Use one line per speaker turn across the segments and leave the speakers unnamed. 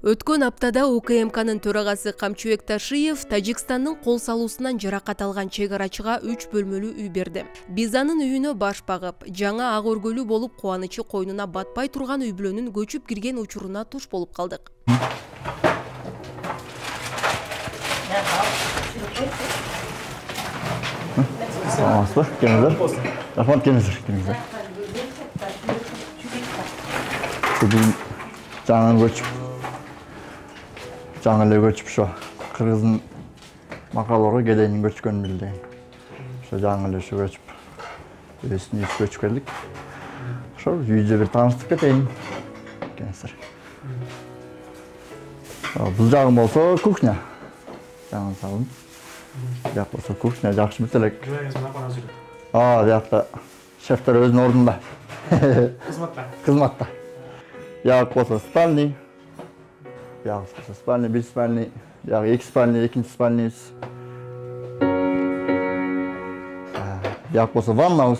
Өткөн аптада УКМКнын төрагасы Камчыбек Ташиев Тажикстандын кол салуусунан жаракат алган чек арачыга 3 бөлмөлүү үй берди. Биз анын үйүнө баш багып, жаңа ак өргөлүү болуп кубанычы койнуна батпай турган үй бүлөнүн көчүп кирген учуруна туш болуп калдык.
Жаңы эле көчүп ошо кыргыздын макалорго кедейдин көчкөнүн билди. Ошо жаңы эле ошо көчүп өзүбүздүн үйгө көчүп келдик. Ошо үйдө бир тааныштырып кетейин. Кеңсер. Бул жагым болсо кухня. Жаңы салым. Жак болсо кухня жакшы эмес элек. Жакта шефтер өзүнүн ордунда. Кызматта. Жак болсо спальный. Спальный, бир спальный, эки спальный, экинчи спальныйбыз. Жак болсо ваннабыз.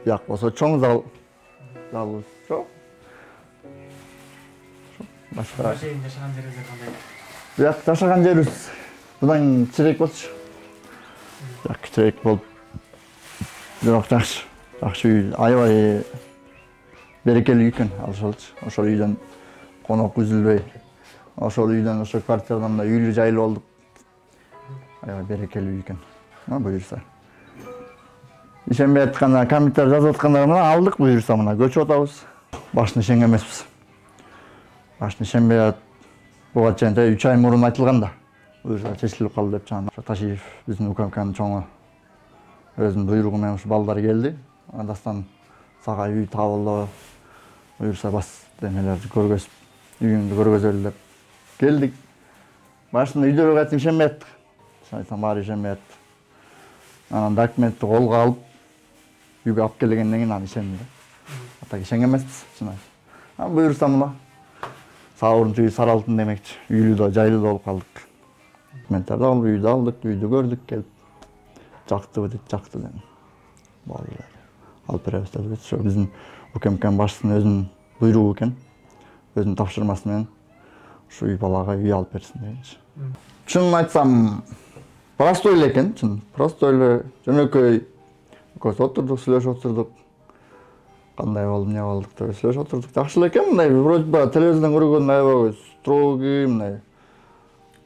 Жак болсо чоң залыбыз. Башка жашаган жерибиз кандай? Жак жашаган жерибиз мындан кичирээк болчу. Жак кичирээк болуп. Бирок жакшы. Жакшы үй, аябай берекелүү экен, алышалчы. Ошол үйдөн конок үзүлбөй, ошол үйдөн ошо квартирадан да үйлүү жайлуу болдук. Аябай берекелүү экен. Буюрса. Ишенбей атканда комментарий жазып аткандар менен алдык буюрса мына көчүп атабыз. Башын ишенген эмеспиз. Башын ишенбей буга чейин 3 ай мурун айтылган да. Буюрса чечилип калды деп чана Ташиев биздин УКМКнын чоңу өзүнүн буйругу менен ушу балдар келди. Андастан сага үй табылды. Буюрса бас демелерди көргөзүп үйүңдү көргөзөлү деп келдик. Башында үйдөргө кайтып ишенбей аттык. Айтсам баары ишенбей атты. Анан документти колго алып, үйгө алып келгенден кийин аны ишенди. Атак ишенген эмеспиз, чын айып. Буюрса мына Саурун үй Сары Алтын демекчи. Үйлүү да, жайлуу да болуп калдык. Документтарды алып, үйдү алдык, үйдү көрдүк, келип. Жактыбы дейт, жакты дедим. Болду. Алып беребиз деп, ошо биздин УКМКнын башчысынын өзүнүн буйругу экен. Өзүнүн тапшырмасы менен ушу үй балага үй алып берсин дегенчи. Чынын айтсам, простой эле экен, чын. Простой эле, жөнөкөй. Экөөбүз отурдук, сүйлөшүп отурдук. Кандай болду, эмне болдук деп сүйлөшүп отурдук. Жакшы эле экен, мындай вроде телевизордон көргөн аябай строгий, мындай.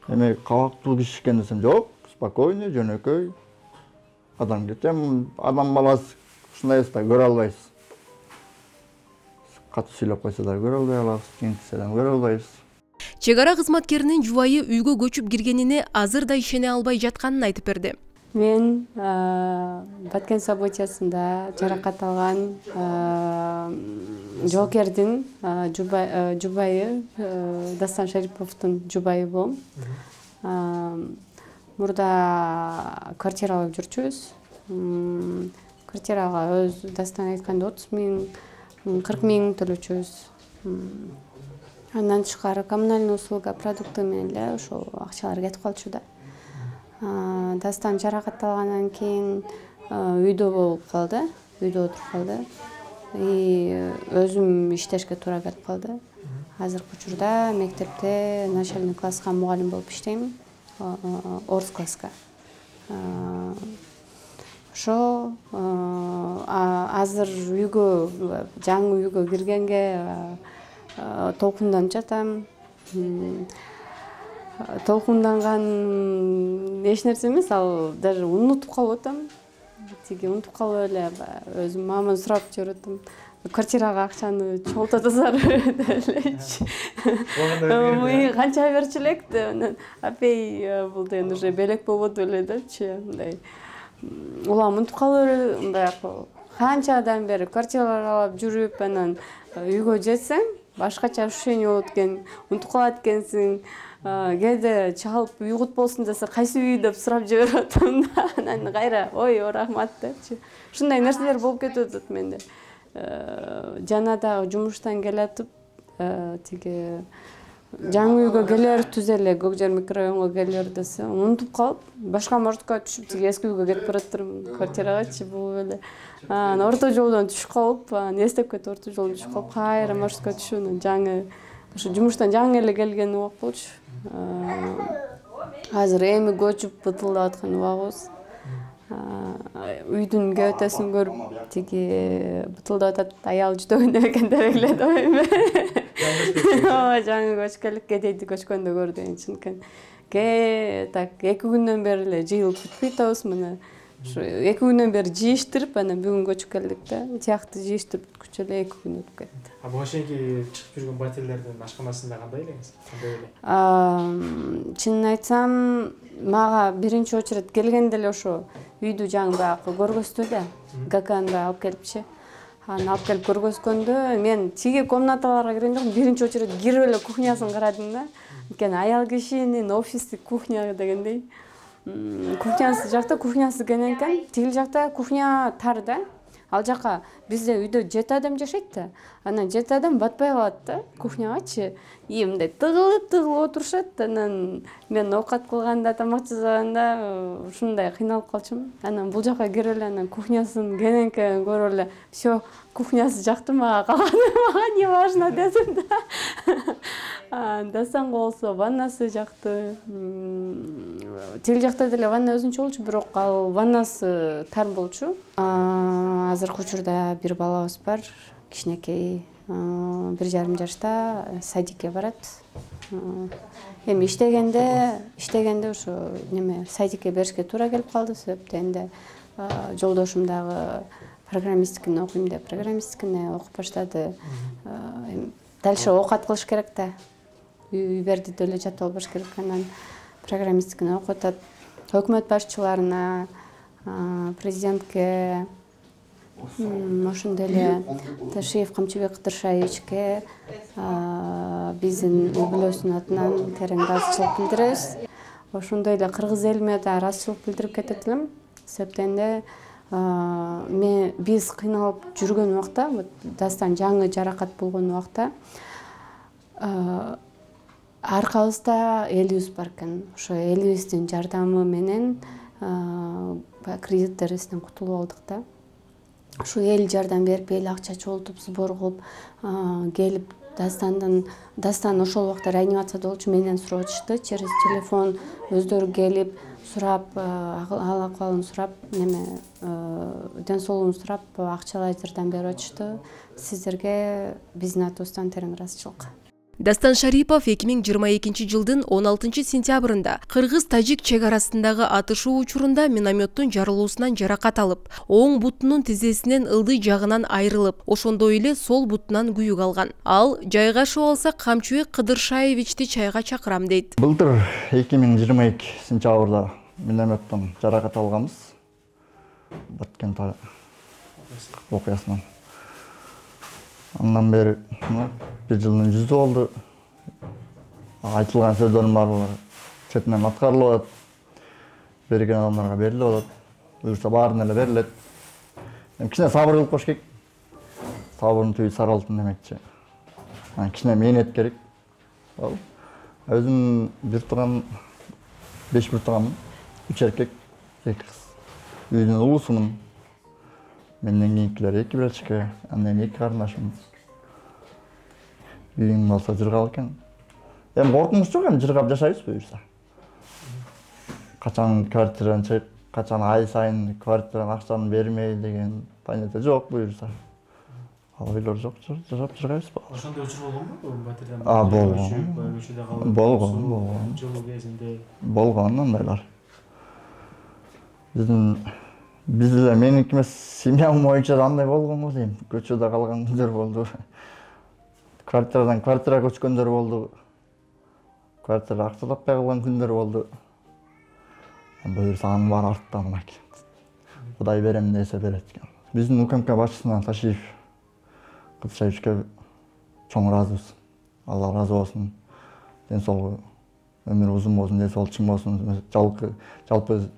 Эме кабактуу киши экен десем, жок, спокойный, жөнөкөй. Адам кетем, адам баласы ушундай да көрө албайбыз. Катуу сүйлөп койсо да көрө албай калабыз, кийинтсе да көрө албайбыз.
Чек ара кызматкеринин жубайы үйгө көчүп киргенине азыр да ишене албай жатканын айтып берди.
Мен Баткен событиясында жаракат алган жоокердин жубайы Дастан Шариповдун жубайы болом. Мурда квартира алып жүрчүбүз. Квартирага өз Дастан айтканда 30 000 40 000 төлөчүбүз. Андан тышкары коммунальный услуга продукты менен эле ошол акчалар кетип калчу да. Дастан жаракат алгандан кийин үйдө болуп калды, үйдө отуруп калды. Өзүм иштешке туура келип калды. Азыркы учурда мектепте начальный класска мугалим болуп иштейм. Орус класска. Ошо азыр үйгө, жаңы үйгө киргенге толкунданып жатам. Толкунданган эч нерсе эмес, ал даже унутуп калып атам. Унутуп калып эле өзүм мамамдан сурап жүрүп атам. Квартирага акчаны чогултатасызар элечи. Канча берчү элек деп анан апей бул деген уже белек болбоду эле депчи, мындай. Улам унутуп калып эле, мындай канчадан бери квартиралар алып жүрүп, анан үйгө жетсең, башкача ощущение болот экен, унутуп калат экенсиң. Кээде чалып уйгут болсун десе, кайсы үй деп сурап жиберип атам да, анан кайра, ой, рахмат депчи. Ушундай нерселер болуп кетип атат менде. Жана дагы жумуштан келатып, тиги жаңы үйгө келер түзеле, Көкжер микрорайонго келер десе, унутуп калып, башка маршрутка түшүп, тиги эски үйгө кетип баратырмын, квартирагачы бул эле. Орто жолдон түшүп калып, эстеп кетип орто жолдон түшүп калып, кайра маршрутка түшүп, жаңы Ошо жумуштан жаңы эле келген убак болчу. Азыр эми көчүп бытылдап аткан убагыбыз. Үйдүн кебетесин көрүп, тиги бытылдап атат, аял жүдөгөн экен деп эледим эми. Ооба, жаңы көчкөнлүккө дейди, көчкөндө көрдүм чынкен. Так 2 күндөн бери эле жыйылып бүтпөй атабыз мына. Ушу 2 күндөн бери жыйыштырып, анан бүгүн көчүп келдик да. Тиякты жыйыштырып бүткүчө эле 2 күн өтүп кетти.
Буга чейинки чыгып жүргөн батирлердин ашканасында кандай элеңиз? Кандай эле?
Чынын айтсам, мага биринчи очередь келгенде эле ошо үйдү жаңы баягы көргөздү да. Гаканды алып келипчи. Аны алып келип көргөзгөндө мен тиги комнаталарга киргенде биринчи очередь кирип эле кухнясын карадым да. Анткени аял кишинин офистик кухня дегендей. Кухнясы жакта кухнясы кенен экен. Тигил жакта кухня тар да. Ал жака бизде үйдө 7 адам жашайт да. Анан 7 адам батпай калат да кухнягачы. И мындай тыгылып отурушат. Анан мен оокат кылганда, тамак жасаганда ушундай кыйналып калчумун. Анан бул жака кирип эле анан кухнясын кененке көрүп эле, всё, кухнясы жакты мага, калганы мага не важно десем да. Дасаңга болсо ваннасы жакты. Тил жакта деле ванна өзүнчө болчу, бирок ал ваннасы тар болчу. Азыркы учурда бир балабыз бар, кичинекей, 1,5 жашта, садикке барат. Эми иштегенде ошо неме садикке беришке туура келип калды, себептен жолдошум дагы программисткини окуйм деп программисткини окуп баштады. Дальше оокат кылыш керек да. Үйберди деле жатып албаш керек, анан программисткини окуп атат. Өкмөт башчыларына, президентке, ошондой эле Ташиев Камчыбек Кыдыршаевичке биздин үй бүлөсүнүн атынан терең ыраазычылык билдиребиз. Ошондой эле кыргыз элиме да ыраазычылык билдирип кетет элем. Себептен биз кыйналып жүргөн убакта, дастан жаңы жаракат болгон убакта аркабызда элибиз бар экен. Ошо элибиздин жардамы менен кредиттерибизден кутулуп алдык да. Ушу эл жардам берип, эл акча чогултуп, сбор кылып келип Дастан ошол убакта реанимацияда болчу, менден сурап атышты. Через телефон өздөрү келип, сурап, ал акыбалын сурап, ден соолугун сурап, акчалай жардам берип атышты. Сиздерге биздин атыбыздан терең ыраазычылык.
Дастан Шарипов 2022 жылдын 16 сентябрында кыргыз-тажик чек арасындагы атышуу учурунда минометтун жарылуусунан жаракат алып, оң бутунун тизесинен ылдый жагынан айрылып, ошондой эле сол бутунан күйүк алган. Ал жайгашып алсак Камчыбек Кыдыршаевичти чайга чакырам дейт.
Былтыр 2022 сентябрда минометтон жаракат алганбыз. Баткен окуясынан. Андан бери bir жылдын жүзү болду. Айтылган сөздөрдүн баардыгы четинен аткарылып атат. Берген адамдарга берилип атат. Буюрса баарына эле берилет. Кичине сабыр кылып кош керек. Сабырдын түбү сары алтын демекчи. Кичине мээнет керек. Өзүм бир тууган 5 бир тууганмын. 3 эркек, 2 кыз. Үйдүн улуусумун. Менден кийинкилер 2 брачка, андан 2 карындашым. Үйүң болсо жыргап экен. Эми коркунуч жок, эми жыргап жашайбыз буюрса. Качан квартирадан чыгып, качан ай сайын квартирадан акчаны бермей деген понятие жок буюрса. Ал ойлор жок, жашап жыргайбыз.
Ошондой учур болгонбу батирден?
Болгон.
Жылуу кезинде.
Болгон андайлар. Биз эле меники эмес, семьям боюнча да андай болгонго дейм. Көчөдө калган күндөр болду. Квартирадан квартира көчкөндөр болду. Квартира акча таппай калган күндөр болду. Буюрса анын баары артта мынакей. Кудай берем десе берет экен. Биздин УКМК башчысына Ташиев Кыдыршаевичке чоң ыраазыбыз. Алла ыраазы болсун. Ден соолугу өмүрү узун болсун, ден соолугу чың болсун. Жалпы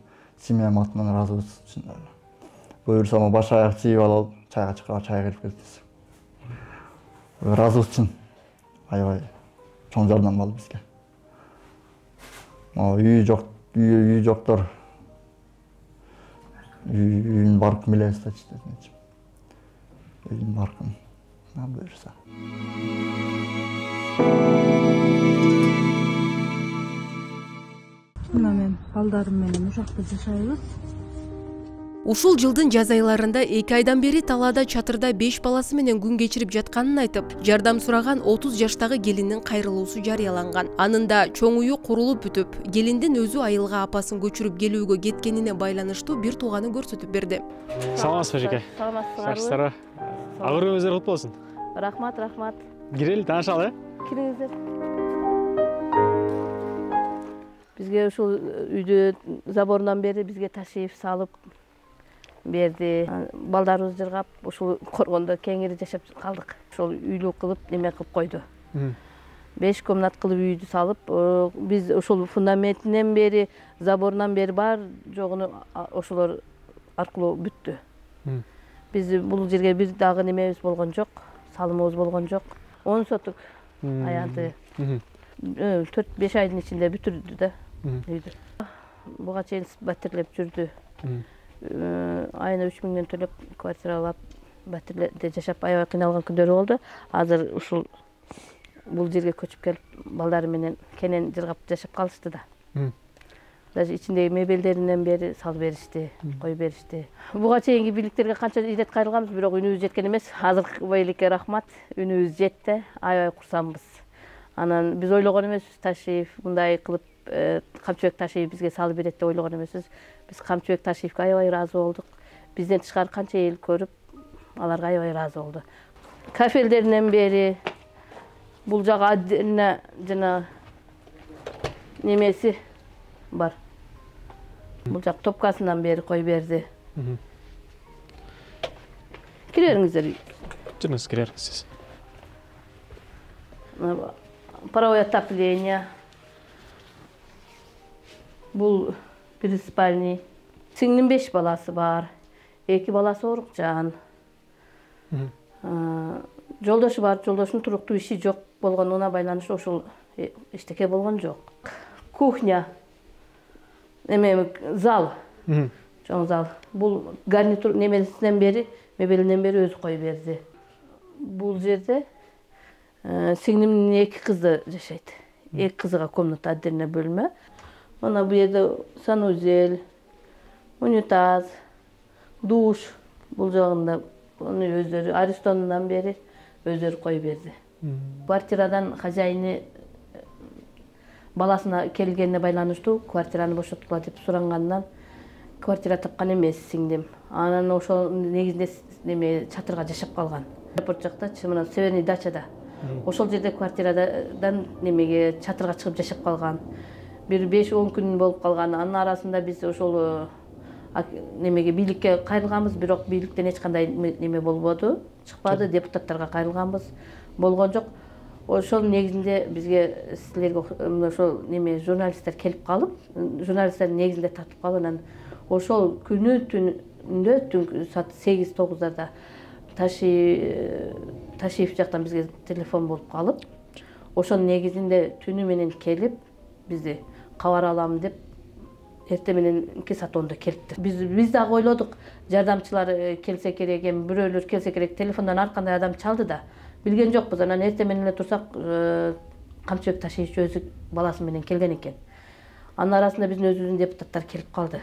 семьям атынан ыраазыбыз. Буюрса баш аяк жыйып алып, чайга чыгып, чай берип кетебиз. Ыраазыбыз чын. Аябай чоң жардам болду бизге. Үйү жоктор үйүн баркын билебиз да, чечтечи. Үйүн баркын. Буюрса.
Мына мен балдарым менен ушакта жашайбыз.
Ушул жылдын жаз айларында 2 айдан бери талаада чатырда 5 баласы менен күн кечирип жатканын айтып, жардам сураган 30 жаштагы келиндин кайрылуусу жарыяланган. Анында чоң үйү курулуп бүтүп, келиндин өзү айылга апасын көчүрүп келүүгө кеткенине байланыштуу бир тууганы көрсөтүп берди.
Саламатсызбы эжеке?
Саламатсыздарбы?
Агырыңыздар кут болсун.
Рахмат.
Кирели, таанышалы,
Кириңиздер. Бизге ушул үйдү заборунан бери бизге ташыйып салып берди. Балдарыбыз жыргап, ушул коргондо кеңири жашап калдык. Ошол үйлүү кылып неме кылып койду. 5 комнат кылып үйдү салып, биз ушул фундаментинен бери, заборунан бери бар жогуну ошолор аркылуу бүттү. Биз бул жерге бир дагы немебиз болгон жок, салымыбыз болгон жок. 10 сотук аянты 4-5 айдын ичинде бүтүрдү да үйдү. Буга чейин батирлеп жүрдү. Айына 3 миңден төлөп квартира алып, батирде жашап аябай кыйналган күндөрү болду. Азыр ушул бул жерге көчүп келип, балдары менен кенен жыргап жашап калышты да. Даже ичиндеги мебелдеринен бери салып беришти, коюп беришти. Буга чейинки бийликтерге канча ирет кайрылганбыз, бирок үнүбүз жеткен эмес. Азыркы бийликке рахмат, үнүбүз жетти, аябай курсанбыз. Анан биз ойлогон эмеспиз, Ташиев мындай кылып Камчыбек Ташиев бизге салып берет деп ойлогон эмеспиз. Биз Камчыбек Ташиевке аябай ыраазы болдук. Бизден тышкары канча эл көрүп, аларга аябай ыраазы болду. Кафелдеринен бери бул жагы отдельно жана немеси бар. Бул жак топкасынан бери коюп берди. Кирериңиздер.
Жүрүңүз, кирерсиз.
Паровое отопление. Бул бир спальный. Сиңдин 5 баласы бар. 2 баласы оорукчан. Жолдошу бар, жолдошунун туруктуу иши жок болгонуна байланыштуу ошол эчтеке болгон жок. Кухня. Зал. Чоң зал. Бул гарнитур немесинен бери, мебелинен бери өзү коюп берди. Бул жерде сиңдимдин 2 кызы жашайт. 2 кызыга комната отдельно бөлмө. Мына бу жерде санузел, унитаз, душ. Бул жагында аны өздөрү Аристонунан бери өздөрү коюп берди. Квартирадан хозяйны баласына келгенине байланыштуу квартираны бошоткула деп сурангандан квартира тапкан эмес сиңдим. Анан ошол негизинде неме чатырга жашап калган. Аэропорт жакта, мына Северный дачада. Ошол жерде квартирадан немеге чатырга чыгып жашап калган. Бир 5-10 күн болуп калган. Анын арасында биз ошол немеге бийликке кайрылганбыз, бирок бийликтен эч кандай неме болбоду, чыкпады, депутаттарга кайрылганбыз, болгон жок. Ошол негизинде бизге силерге ошол неме журналисттер келип калып, журналисттер негизинде тартып калып, анан ошол күнү түндө түнкү саат 8-9-дарда Ташиев жактан бизге телефон болуп калып, ошонун негизинде түнү менен келип бизди кабар алам деп эрте менен 2 саат 10-да келипти. Биз дагы ойлодук, жардамчылар келсе керек, бирөөлөр келсе керек, телефондон ар кандай адам чалды да. Билген жокпуз. Анан эрте менен эле турсак, Камчыбек Ташиев өзү баласы менен келген экен. Анын арасында биздин өзүбүздүн депутаттар келип калды.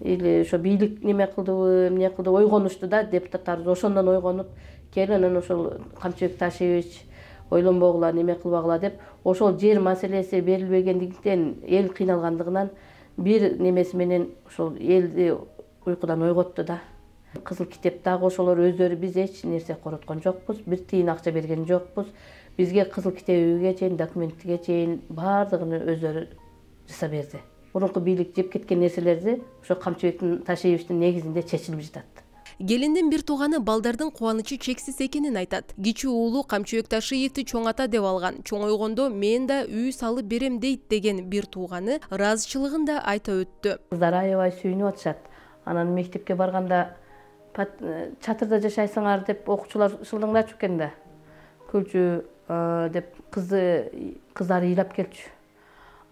Или ошо бийлик неме кылдыбы, эмне кылды, ойгонушту да, депутаттарыбыз ошондон ойгонуп, кел анан ошол Камчыбек Ташиевич ойлонбогула, неме кылбагыла деп, ошол жер маселеси берилбегендиктен, эл кыйналгандыгынан бир немеси менен ошол элди уйкудан ойготту да. Кызыл китептагы ошолор өздөрү биз эч нерсе короткон жокпуз, бир тыйын акча берген жокпуз. Бизге кызыл китебиге чейин, документиге чейин баардыгын өздөрү жасап берди. Мурунку бийлик жеп кеткен нерселерди ошо Камчыбектин Ташиевичтин негизинде чечилип жатат.
Келиндин бир тууганы балдардын кубанычы чексиз экенин айтат. Кичүү уулу Камчыбек Ташиевди чоң ата деп алган. Чоңойгондо мен да үй салып берем дейт деген бир тууганы ыраазычылыгын да айта өттү.
Кыздар аябай сүйүнүп атышат. Анан мектепке барганда чатырда жашайсыңар деп окуучулар шылдыңдачу экен да. Күлчү деп кыздары ыйлап келчү.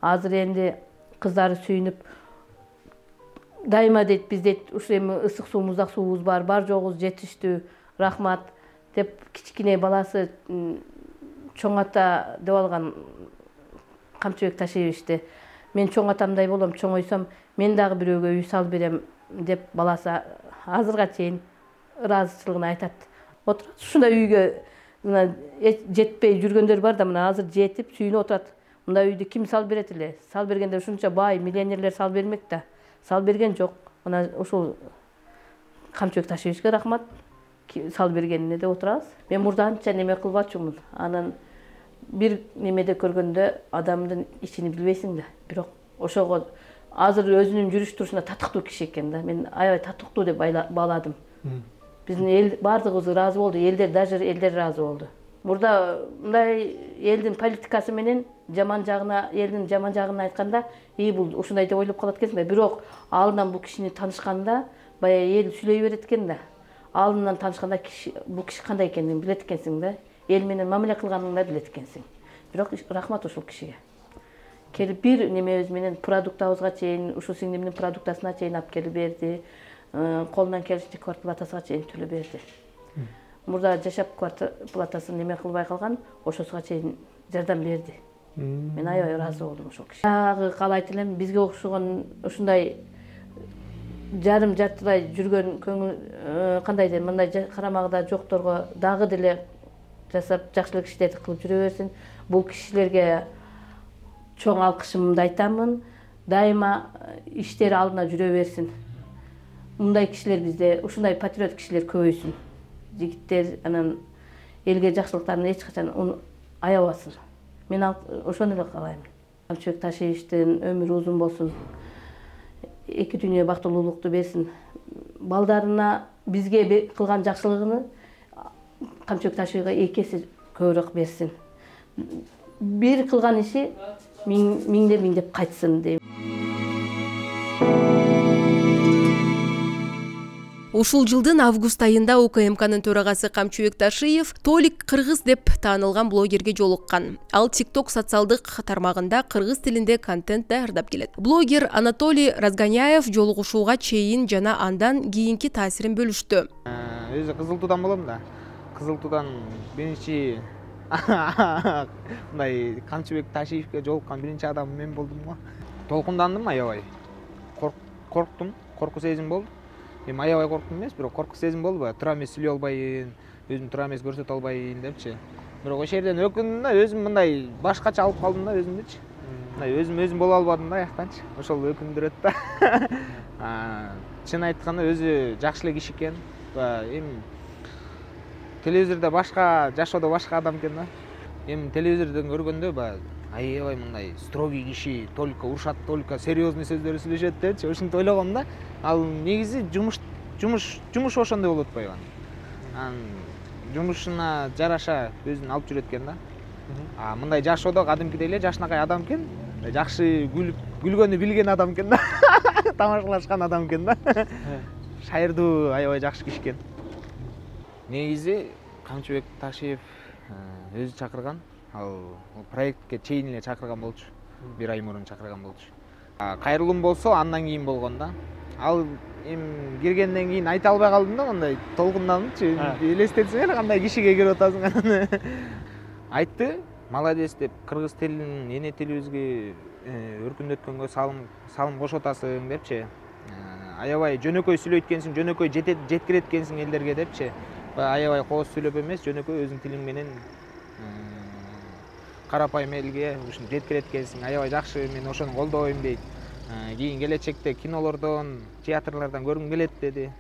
Азыр энди кыздары сүйүнүп дайыма дейт, биз дейт ушу эми ысык суу, муздак суубуз бар жогубуз жетиштүү, рахмат деп кичкине баласы чоң ата деп алган Камчыбек Ташиевичти. Мен чоң атамдай болом, чоңойсом мен дагы бирөөгө үй салып берем деп баласы азырга чейин ыраазычылыгын айтат. Отурат ушундай үйгө мына жетпей жүргөндөр бар да, мына азыр жетип сүйүнүп отурат. Мындай үйдү ким салып берет эле? Салып бергенде ушунча бай миллионерлер салып бермек да. Салып берген жок. Мына ушул Камчыбек Ташиевичке рахмат. Салып бергенине деп отурабыз. Мен мурда анча неме кылбачумун. Анан бир немеде көргөндө адамдын ичини билбейсиң да. Бирок ошого азыр өзүнүн жүрүш турушуна татыктуу киши экен да. Мен аябай татыктуу деп бааладым. Биздин эл бардыгыбыз ыраазы болду. Элдер, даже элдер ыраазы болду. Мурда мындай элдин политикасы менен жаман жагына, элдин жаман жагын айтканда, бул ушундай деп ойлоп калат экенсиң да. Бирок алдынан бул кишини таанышканда, баягы эл сүйлөй берет экен да. Алдынан таанышканда бул киши кандай экенин билет экенсиң да. Эл менен мамиле кылганын да билет экенсиң. Бирок рахмат ушул кишиге. Келип бир немебиз менен продуктабызга чейин, ушул сиңдимдин продуктасына чейин алып келип берди. Колунан келишинче квартплатасына чейин төлөп берди. Мурда жашап квартплатасын неме кылбай калган, ошосуга чейин жардам берди. Мен аябай ыраазы болдум ошол кишиге. Дагы каалайт элем, бизге окшогон ушундай жарым жартылай жүргөн көңүл кандай дейм, мындай карамагыда жокторго дагы деле жасап жакшылык иштерди кылып жүрө берсин. Бул кишилерге чоң алкышымды айтамын. Дайыма иштери алдына жүрө берсин. Мындай кишилер бизде, ушундай патриот кишилер көбөйсүн. Жигиттер анан элге жакшылыктарын эч качан аябасын. Мен ошону эле каалайм. Камчыбек Ташиевичтин өмүрү узун болсун. Эки дүйнө бактылуулукту берсин. Балдарына бизге кылган жакшылыгын Камчыбек Ташиевичке эки эсе көбүрөөк берсин. Бир кылган иши миңдеп кайтсын дейм.
Ушул жылдын август айында УКМКнын төрагасы Камчыбек Ташиев Толик кыргыз деп таанылган блогерге жолуккан. Ал TikTok социалдык тармагында кыргыз тилинде контент даярдап келет. Блогер Анатолий Разгоняев жолугушууга чейин жана андан кийинки таасирин бөлүштү.
Өзү Кызыл Туудан болом да. Кызыл Туудан биринчи мындай Камчыбек Ташиевке жолуккан биринчи адам мен болдум го. Толкундандым аябай. Корктум, корку сезим болду. Мен аябай корктум эмес, бирок корку сезим болду. Тура эмес сүйлөй албайын, өзүм тура эмес көрсөтө албайын депчи. Бирок ошол жерден өкүндүм да, өзүм мындай башкача алып калдым да өзүмдүчү. Мындай өзүм боло албадым да аяктанчы. Ошол өкүндүрөт да. Чын айтканда өзү жакшы эле киши экен. Эми телевизордо башка, жашоодо башка адам экен да. Эми телевизордон көргөндө аябай мындай строгий киши, только урушат, только серьезный сөздөр сүйлөшөт депчи. Ошентип ойлогом да. Ал негизи жумуш ошондой болуп атпайбы? Жумушуна жараша өзүн алып жүрөт экен да. Мындай жашоодо кадимкидей эле жашынакай адам экен. Жакшы күлгөнү билген адам экен да. Тамашалашкан адам экен да. Шайырдуу, аябай жакшы киши экен. Негизи Камчыбек Ташиев өзү чакырган. Ал проектке чейин эле чакырган болчу. Бир ай мурун чакырган болчу. Кайрылуум болсо андан кийин болгон да. Ал эми киргенден кийин айта албай калдым да, мындай толкундандымчы. Элестетсең эле кандай кишиге кирип атасың. Айтты, молодец деп, кыргыз тилин эне тилибизге өркүндөткөнгө салым кошуп атасың депчи. Аябай жөнөкөй сүйлөйт экенсиң, жөнөкөй жеткирет экенсиң элдерге депчи. Аябай кооз сүйлөп эмес, жөнөкөй өзүң тилиң менен карапайым элге ушуну жеткирет экенсиң. Аябай жакшы, мен ошону колдойм дейт. Кийин келечекте кинолордон, театрлардан көргүм келет деди.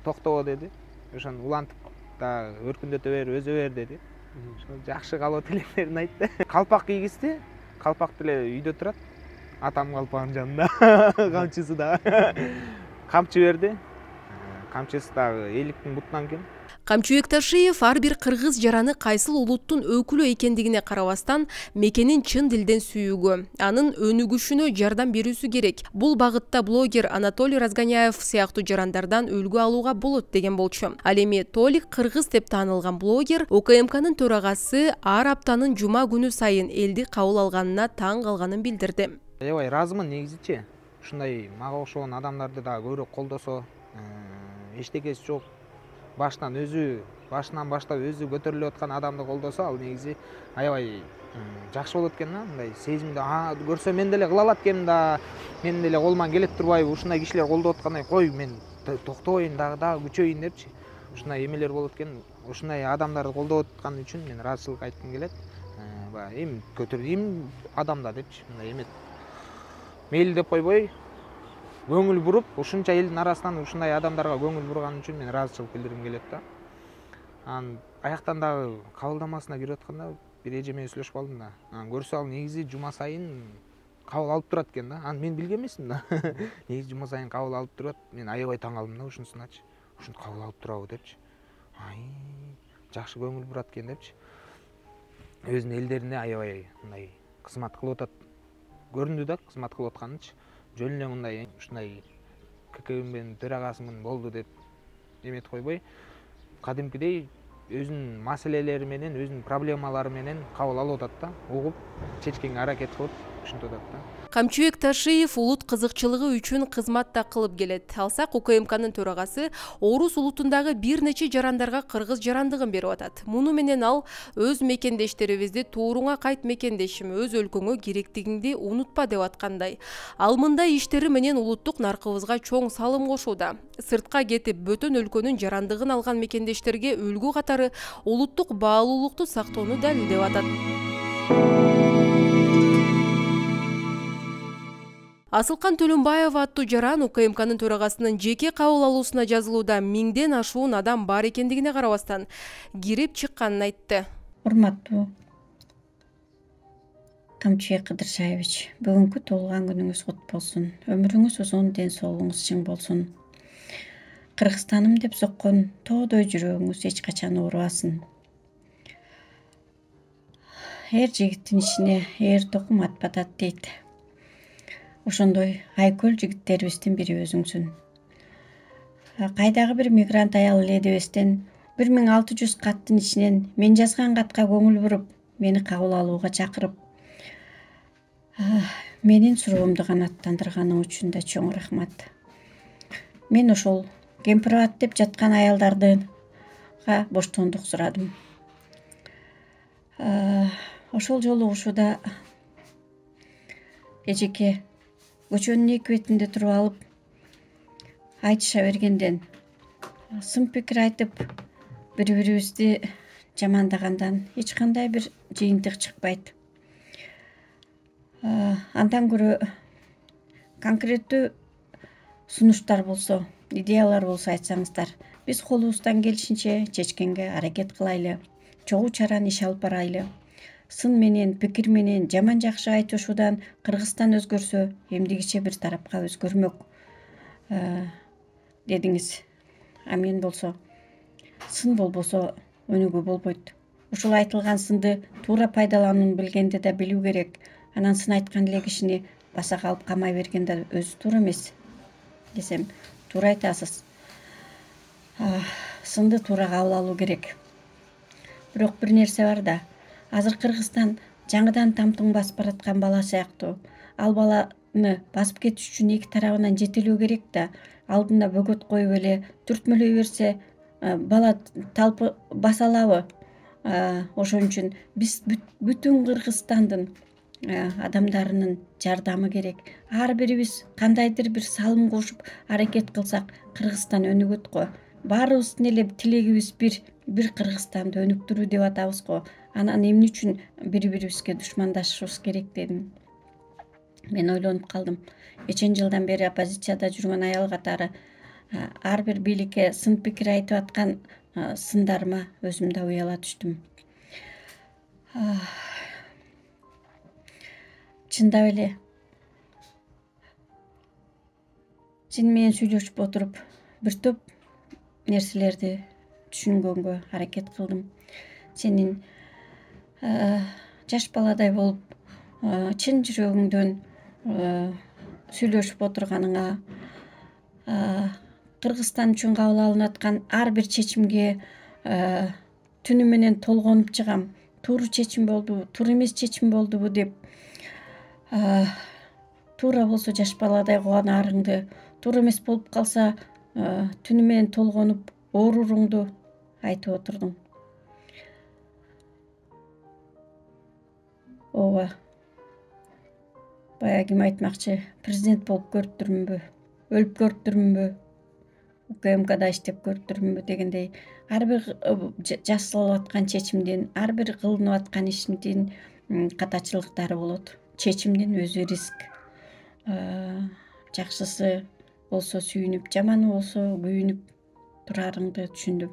Токтобо деди. Ошону улантып да өркүндөтө бер, өзө бер деди. Ошо жакшы каалоо тилектерин айтты. Калпак кийгизди. Калпак деле үйдө турат. Атам калпагынын жанында. Камчысы да. Камчы берди. Камчысы дагы эликтин бутунан экен.
Камчыбек Ташиев ар бир кыргыз жараны кайсыл улуттун өкүлү экендигине карабастан мекенин чын дилден сүйүүгө, анын өнүгүшүнө жардам берүүсү керек. Бул багытта блогер Анатолий Разгоняев сыяктуу жарандардан үлгү алууга болот деген болчу. Ал эми Толик кыргыз деп таанылган блогер УКМКнын төрагасы ар аптанын жума күнү сайын элди кабыл алганына таң калганын билдирди.
Аябай ыраазымын негизичи. Ушундай мага окшогон адамдарды да көбүрөөк колдосо, эчтекеси жок. Баштан өзү башынан баштап өзү көтөрүлүп аткан адамды колдосо ал негизи аябай жакшы болот экен да. Мындай сезимди көрсө мен деле кыла алат экенмин да, мен деле колуман келет турбайбы, ушундай кишилер колдоп аткандай, кой мен токтобойн дагы күчөйүн депчи. Ушундай эмелер болот экен. Ушундай адамдарды колдоп аткан үчүн мен ыраазычылык айткым келет. Баягы эми эми адам да депчи, мындай эме мейли деп койбой, көңүл буруп, ушунча элдин арасынан ушундай адамдарга көңүл бурган үчүн мен ыраазычылык билдиргим келет да. Анан аяктан дагы кабылдамасына кирип атканда бир эже менен сүйлөшүп калдым да. Анан көрсө ал негизи жума сайын кабыл алып турат экен да. Аны мен билген эмесмин да. Негизи жума сайын кабыл алып турат. Мен аябай таң калдым да ушунусуначы. Ушинтип кабыл алып турабы депчи. Жакшы көңүл бурат экен депчи. Өзүнүн элдерине аябай мындай кызмат кылып атат. Көрүндү да кызмат кылып атканычы. Жөн эле мындай ушундай ККМнин төрагасымын болду деп эметип койбой, кадимкидей өзүнүн маселелери менен, өзүнүн проблемалары менен кабыл алып атат да, угуп, чечкенге аракет кылып ушинтип атат да.
Камчыбек Ташиев улут кызыкчылыгы үчүн кызмат да кылып келет. Алсак УКМКнын төрагасы Орус улутундагы бир нече жарандарга кыргыз жарандыгын берип атат. Муну менен ал өз мекендештерибизди тууруңа кайт мекендешим, өз өлкөңө керектигиңди унутпа деп аткандай. Ал мындай иштери менен улуттук наркыбызга чоң салым кошууда. Сыртка кетип бөтөн өлкөнүн жарандыгын алган мекендештерге үлгү катары улуттук баалуулукту сактоону далилдеп атат. Асылкан Төлөнбаева аттуу жаран УКМКнын төрагасынын жеке кабыл алуусуна жазылууда миңден ашуун адам бар экендигине карабастан кирип чыкканын айтты.
Урматтуу Камчыбек Кыдыршаевич, бүгүнкү туулган күнүңүз кут болсун. Өмүрүңүз узун, ден соолугуңуз чың болсун. Кыргызстаным деп соккон тоодой жүрөгүңүз эч качан оорубасын. Эр жигиттин ичине эр токум атпатат дейт. Ошондой айкөл жигиттерибиздин бири өзүңсүн. Кайдагы бир мигрант аял эле дебестен 1600 каттын ичинен мен жазган катка көңүл буруп, мени кабыл алууга чакырып, менин суроомду канааттандырганың үчүн да чоң рахмат. Мен ошол кемпирабад деп жаткан аялдарга боштондук сурадым. Ошол жолугушууда эжеке көчөнүн эки бетинде туруп алып айтыша бергенден, сын пикир айтып, бири-бирибизди жамандагандан эч кандай бир жыйынтык чыкпайт. Андан көрө конкреттүү сунуштар болсо, идеялар болсо айтсаңыздар, биз колубуздан келишинче чечкенге аракет кылайлы, чогуу чаран иш алып барайлы. Сын менен, пикир менен жаман жакшы айтышуудан Кыргызстан өзгөрсө, эмдигиче бир тарапка өзгөрмөк дедиңиз. А мен болсо, сын болбосо өнүгүү болбойт. Ушул айтылган сынды туура пайдаланууну билгенде да билүү керек. Анан сын айткан эле кишини басак алып камай берген да өзү туура эмес. Десем, туура айтасыз. Сынды туура кабыл алуу керек. Бирок бир нерсе бар да, азыр Кыргызстан жаңыдан тамтың басып бараткан бала сыяктуу. Ал баланы басып кетиш үчүн эки тарабынан жетелөө керек да, алдына бөгөт коюп эле түртмөлөй берсе, бала талпы баса алабы? Ошон үчүн биз бүтүн Кыргызстандын адамдарынын жардамы керек. Ар бирибиз кандайдыр бир салым кошуп аракет кылсак, Кыргызстан өнүгөт го. Баарыбыздын эле тилегибиз бир Кыргызстанды өнүктүрүү деп атабыз го. Анан эмне үчүн бири-бирибизге душмандашышыбыз керек дедим. Мен ойлонуп калдым. Нечен жылдан бери оппозицияда жүргөн аял катары ар бир бийликке сын пикир айтып аткан сындарыма өзүм да уяла түштүм. Чындап эле сен менен сүйлөшүп отуруп бир топ нерселерди түшүнгөнгө аракет кылдым. Сенин жаш баладай болуп, чын жүрөгүңдөн сүйлөшүп отурганыңа, Кыргызстан үчүн кабыл алынып аткан ар бир чечимге түнү менен толгонуп чыгам. Туура чечим болдубу, туура эмес чечим болдубу деп, туура болсо жаш баладай кубанаарыңды, туура эмес болуп калса түнү менен толгонуп ооруруңду айтып отурдуң. Ооба. Баягы ким айтмакчы, президент болуп көрүптүрмүнбү, өлүп көрүптүрмүнбү, УКМКда иштеп көрүптүрмүнбү дегендей, ар бир жасалып аткан чечимдин, ар бир кылынып аткан иштин катачылыктары болот. Чечимдин өзү риск. Жакшысы болсо сүйүнүп, жаманы болсо күйүнүп турарыңды түшүндүм.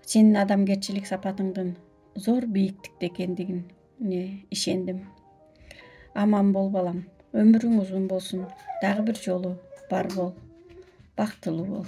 Сенин адамгерчилик сапатыңдын зор бийиктикте экендигине ишендим. Аман бол балам, өмүрүң узун болсун, дагы бир жолу бар бол, бактылуу бол.